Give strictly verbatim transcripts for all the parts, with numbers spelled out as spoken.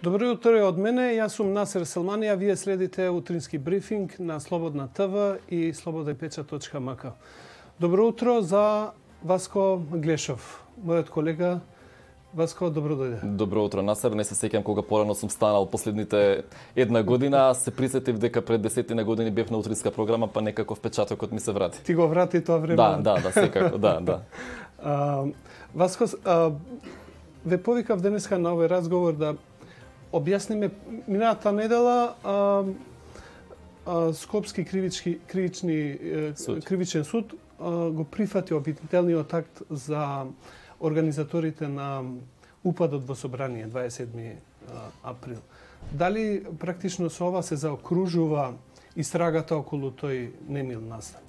Добро утро од мене, јас сум Насер Селмани, а вие следите утрински брифинг на Слободна ТВ и слобода печат точка ем ка. Добро утро за Васко Глешов, мојот колега. Васко, добро дојде. Добро утро, Насер. Не се сеќам кога порано сум станал последните една година, а се присетив дека пред десетина години бев на утринска програма, па некако впечатокот ми се врати. Ти го врати тоа време? Да, да, да, секако, да, да. А, Васко, а, ве повикав денеска на овој разговор да објасниме минатата недела а, а, Скопски кривички, кривични, суд. кривичен суд а, го прифати обвинителниот акт за организаторите на упадот во собрание дваесет и седми април. Дали практично со ова се заокружува истрагата околу тој немил настан?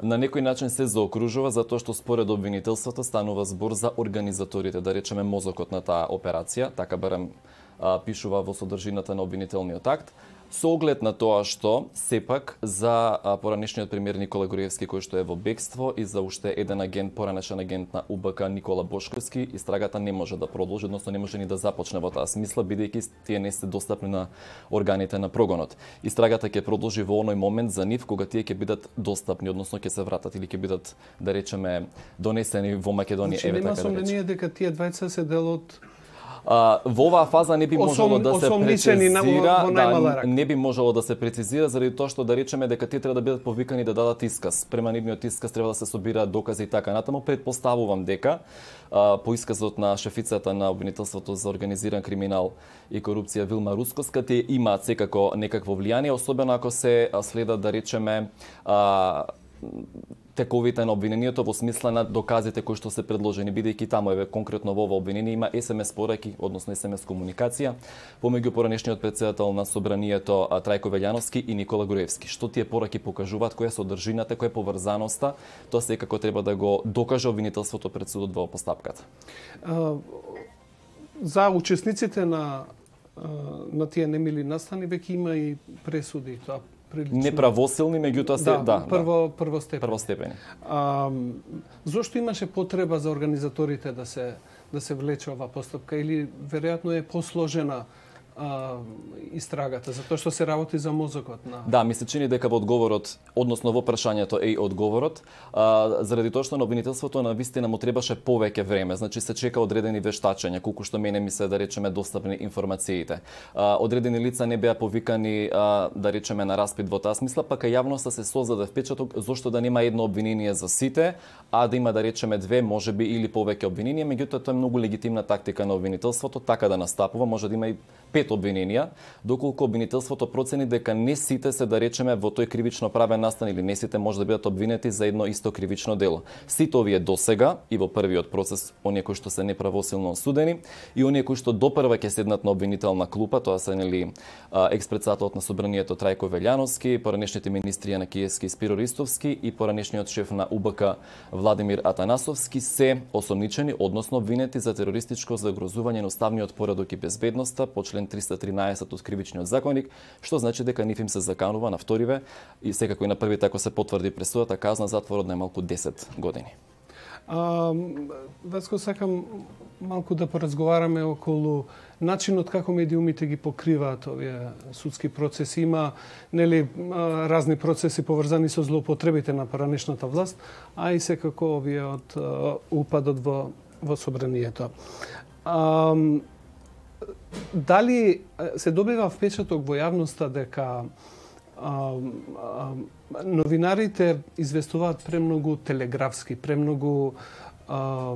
На некој начин се заокружува затоа што според обвинителството станува збор за организаторите, да речеме мозокот на таа операција, така барем а, пишува во содржината на обвинителниот акт. Со оглед на тоа што сепак за поранешниот премиер Никола Груевски кој што е во бегство и за уште еден агент, поранешен агент на У Б К Никола Бошковски, истрагата не може да продолжи, односно не може ни да започне во таа смисла, бидејќи тие не се достапни на органите на прогонот. Истрагата ќе продолжи во оној момент за нив кога тие ќе бидат достапни, односно ќе се вратат или ќе бидат, да речеме, донесени во Македонија. Значи, нема сомнение дека тие двајца се дел од Uh, во оваа фаза не би можело да се прецизира, да, не би можело да се прецизира заради тоа што да речеме дека тие треба да бидат повикани да дадат исказ. Према нивниот исказ треба да се собираат докази и така натаму. Предпоставувам дека uh, по исказот на шефицата на обвинителството за организиран криминал и корупција Вилма Рускоска, тие имаат секако некакво влијание, особено ако се следат, да речеме, uh, тековите на обвинението во смисла на доказите кои што се предложени, бидејќи таму еве конкретно во ова обвинение има ес ем ес пораки, односно ес ем ес комуникација помеѓу поранешниот претседател на собранието Трајко Велјановски и Никола Груевски. Што тие пораки покажуваат, која е содржината, која е поврзаноста, тоа секако треба да го докаже обвинителството пред судот во постапката. За учесниците на на тие немили настани веќе има и пресуди, тоа прилично неправосилни, меѓутоа се да, да, прво да. првостепени. Првостепени. А, зошто имаше потреба за организаторите да се да се влече ова постапка или веројатно е посложена а, истрагата, затоа што се работи за мозокот на... Да, ми се чини дека во одговорот, односно во прашањето е и одговорот, а, заради тоа што на обвинителството на вистина му требаше повеќе време, значи се чека одредени вештачења, колку што мене ми се, да речеме, достапни информациите. А, одредени лица не беа повикани, а, да речеме, на распит во таа смисла, пака јавноста се создаде впечаток зошто да нема едно обвинение за сите, а да има, да речеме, две, можеби или повеќе обвиненија, меѓутоа тоа е многу легитимна тактика на обвинителството, така да настапува, може да има и пет обвиненија, доколку обвинителството процени дека не сите се, да речеме, во тој кривично правен настан или не сите може да бидат обвинети за едно исто кривично дело. Сите овие досега и во првиот процес, оние кои што се неправосилно осудени и оние кои што допрва ќе седнат на обвинителна клупа, тоа се нели експредседателот на собранието Трајко Велјановски, поранешните министри Јана Киевски и Спиро Ристовски и поранешниот шеф на У Б К Владимир Атанасовски се осомничени, односно обвинети за терористичко загрозување на уставниот поредок и безбедноста по член триста тринаесет од Кривичниот законник, што значи дека нив им се заканува на вториве и секако и на првите, ако се потврди пресудата, казна затвор од најмалку десет години. А, Васко, сакам малку да поразговараме околу начинот како медиумите ги покриваат овие судски процеси. Има нели разни процеси поврзани со злоупотребите на поранешната власт, а и секако овие од упадот во во собранието. А, дали се добива впечаток во јавноста дека а, а, новинарите известуваат премногу телеграфски, премногу а,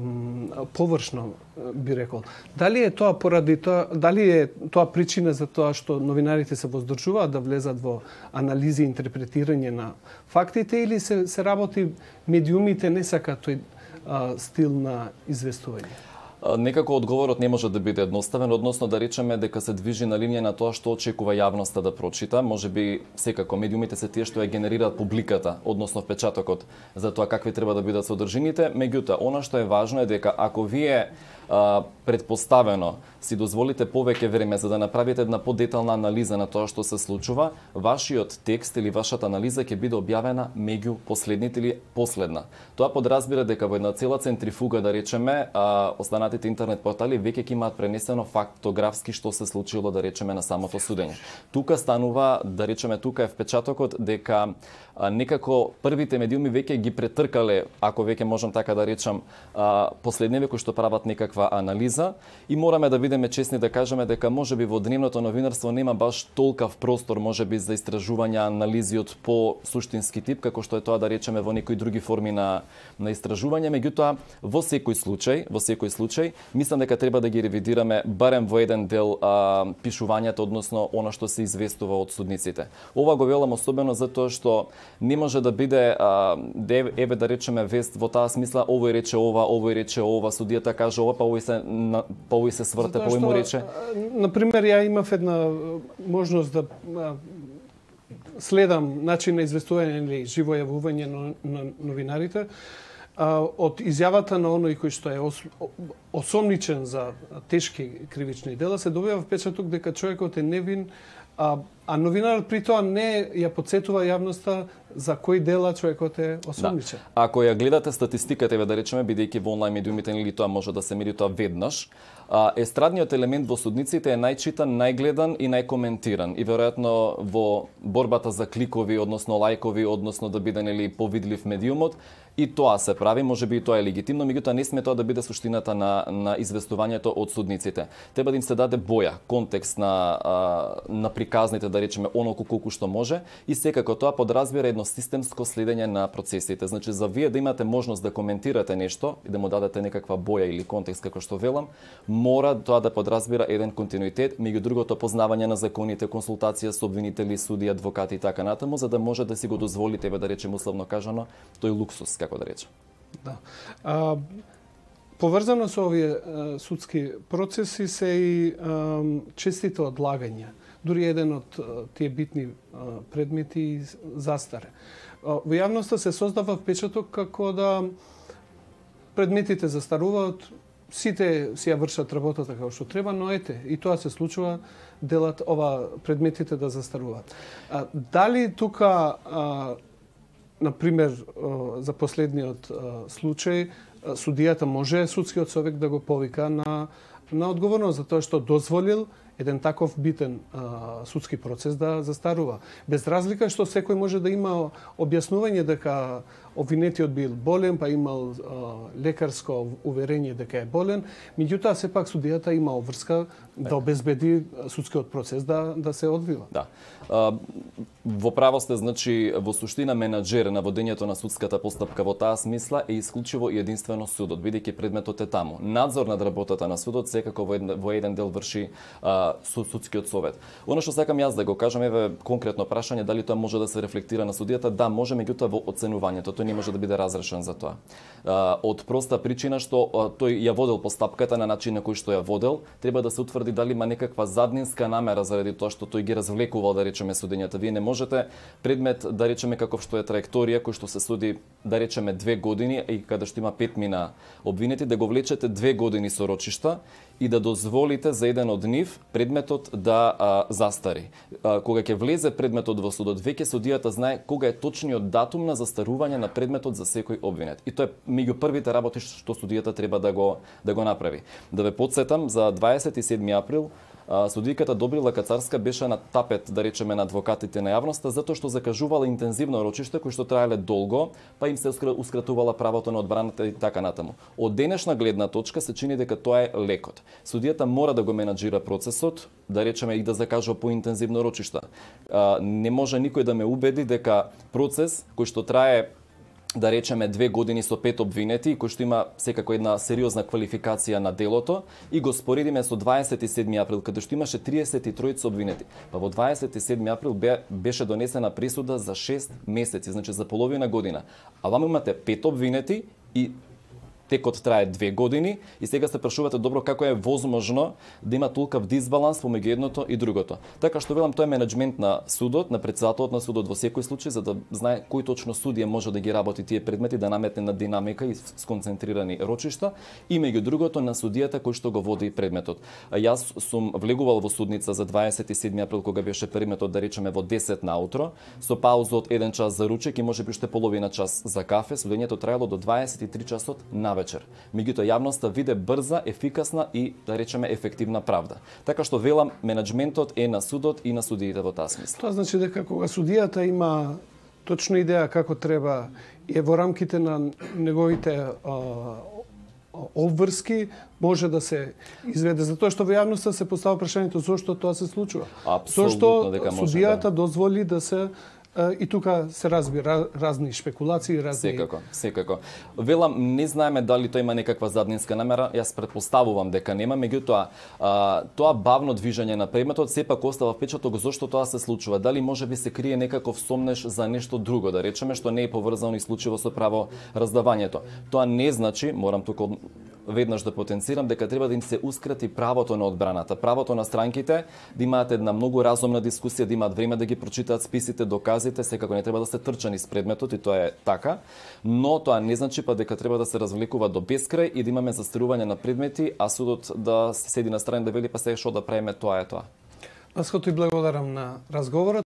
површно, би рекол. Дали е тоа поради тоа, дали е тоа причина за тоа што новинарите се воздржуваат да влезат во анализи и интерпретирање на фактите или се, се работи медиумите не сакаат тој а, стил на известување? Некако одговорот не може да биде едноставен, односно да речеме дека се движи на линија на тоа што очекува јавноста да прочита. Може би секако медиумите се тие што ја генерираат публиката, односно впечатокот за тоа какви треба да бидат содржините. Меѓутоа, она што е важно е дека ако вие а, предпоставено си дозволите повеќе време за да направите една подетална анализа на тоа што се случува, вашиот текст или вашата анализа ќе биде објавена меѓу последните или последна. Тоа подразбира дека во една цела центрифуга, да речеме, а, останатите интернет портали веќе ќе имаат пренесено фактографски што се случило, да речеме, на самото судење. Тука станува, да речеме, тука е впечатокот дека а, некако првите медиуми веќе ги претркале, ако веќе можам така да речам, а, последниве кои што прават некаква анализа, и мораме да бидеме честни да кажеме дека можеби во дневното новинарство нема баш толкав простор можеби за истражување, анализи од по суштински тип, како што е тоа, да речеме, во некои други форми на на истражување. Меѓутоа, во секој случај, во секој случај, мислам дека треба да ги ревидираме барем во еден дел а, пишувањето, односно она што се известува од судниците. Ова го велам особено затоа што не може да биде а, де, еве да речеме вест во таа смисла, овој рече ова, овој рече ова, судијата каже ова, па овој се на, па овој се сврте, па овој му рече. На пример, ја имав една можност да а, следам начин на известување или живо јавување на, на новинарите а, од изјавата на оној кој што е ос, осомничен за тешки кривични дела, се добива впечаток дека човекот е невин, а, а новинарот при тоа не ја подсетува јавноста за кои дела човекот е осомничен. Да. Ако ја гледате статистиката, еве да речеме, бидејќи во онлайн медиумите или тоа може да се мери тоа веднаш, а, естрадниот елемент во судниците е најчитан, најгледан и најкоментиран. И веројатно во борбата за кликови, односно лајкови, односно да биде нели повидлив медиумот, и тоа се прави, можеби и тоа е легитимно, меѓутоа не сме тоа да биде суштината на на известувањето од судниците. Треба да им се даде боја, контекст на а, на приказните, да речеме, оноку колку што може, и секако тоа подразбира едно системско следење на процесите. Значи, за вие да имате можност да коментирате нешто и да му дадете некаква боја или контекст, како што велам, мора тоа да подразбира еден континуитет, меѓу другото познавање на законите, консултација со обвинители, суди, адвокати и така натаму, за да може да си го дозволите, еве да речем условно кажано, тој луксус, како да речем. Да. А, поврзано со овие а, судски процеси се и а, честите одлагања. Дури еден од а, тие битни а, предмети застаре. А, во јавноста се создава впечаток како да предметите застаруваат, сите си ја вршат работата како што треба, но ете, и тоа се случува, делат ова предметите да застаруваат. А, дали тука а, например, за последниот случај, судијата може судскиот совет да го повика на, на одговорност за тоа што дозволил еден таков битен а, судски процес да застарува. Без разлика што секој може да има објаснување дека обвинетиот бил болен, па имал а, лекарско уверение дека е болен, меѓутоа сепак судијата има обврска да обезбеди судскиот процес да да се одвива. Да. А, во право сте, значи, во суштина менаџер на водењето на судската постапка во таа смисла е исклучиво и единствено судот, бидејќи предметот е таму. Надзор над работата на судот секако во еден, во еден дел врши а, судскиот совет. Оно што сакам јас да го кажам, еве конкретно прашање, дали тоа може да се рефлектира на судијата? Да, може, меѓутоа во оценувањето тој не може да биде разрешен за тоа. А, од проста причина што а, тој ја водел постапката на начин на кој што ја водел, треба да се утврди дали има некаква заднинска намера заради тоа што тој ги развлекувал, да речеме, судењата. Вие не можете предмет, да речеме, каков што е траекторија, кој што се суди, да речеме, две години и каде што има пет мина обвинети, да го влечете две години со рочишта и да дозволите за еден од нив предметот да а, застари. А, кога ќе влезе предметот во судот, веќе судијата знае кога е точниот датум на застарување на предметот за секој обвинет. И тоа е меѓу првите работи што судијата треба да го да го направи. Да ве потсетам, за дваесет и седми април судијката Добрила Кацарска беше на тапет, да речеме, на адвокатите на јавноста, затоа што закажувала интензивно рочиште кои што траеле долго, па им се ускратувала правото на одбраната и така натаму. Од денешна гледна точка се чини дека тоа е лекот. Судијата мора да го менаџира процесот, да речеме, и да закажува поинтензивно рочишта. Не може никој да ме убеди дека процес кој што трае, да речеме, две години со пет обвинети, кој што има секако една сериозна квалификација на делото, и го споредиме со дваесет и седми април, каде што имаше триесет и тројца обвинети. Па во дваесет и седми април бе, беше донесена присуда за шест месеци, значи за половина година. А ваму имате пет обвинети и текот трае две години и сега се прашувате добро како е возможно да има толков дисбаланс помеѓу едното и другото. Така што велам, тоа е менеджмент на судот, на претседателот на судот во секој случај, за да знае кој точно судија може да ги работи тие предмети, да наметне на динамика и сконцентрирани рочишта, и меѓу другото на судијата кој што го води предметот. А јас сум влегувал во судница за дваесет и седми април кога беше предметот, да речеме во десет наутро, со пауза од еден час за ручек и можеби уште половина час за кафе. Судењето траело до дваесет и три часот на вечер. Меѓутоа јавноста виде брза, ефикасна и, да речеме, ефективна правда. Така што велам, менеджментот е на судот и на судиите во таа смисла. Тоа значи дека кога судијата има точна идеја како треба и е во рамките на неговите а, обврски, може да се изведе. Затоа што во јавноста се поставува прашањето зошто тоа се случува. Апсолутно дека може. Зошто судијата да дозволи да се и тука се разбира разни шпекулации, разни... Секако, секако. Велам, не знаеме дали тоа има некаква заднинска намера, јас претпоставувам дека нема, меѓутоа тоа бавно движење на предметот сепак остава впечаток зошто тоа се случува. Дали може би се крие некаков сомнеш за нешто друго, да речеме, што не е поврзано исклучиво со право раздавањето. Тоа не значи, морам тука веднаш да потенцирам, дека треба да им се ускрати правото на одбраната, правото на странките да имаат една многу разумна дискусија, да имаат време да ги прочитаат списите, доказите, секако не треба да се трчани с предметот и тоа е така, но тоа не значи па дека треба да се развлекува до бескрај и да имаме застарување на предмети, а судот да седи на страна да вели па сега што да правиме, тоа е тоа. Васко, ти благодарам на разговорот.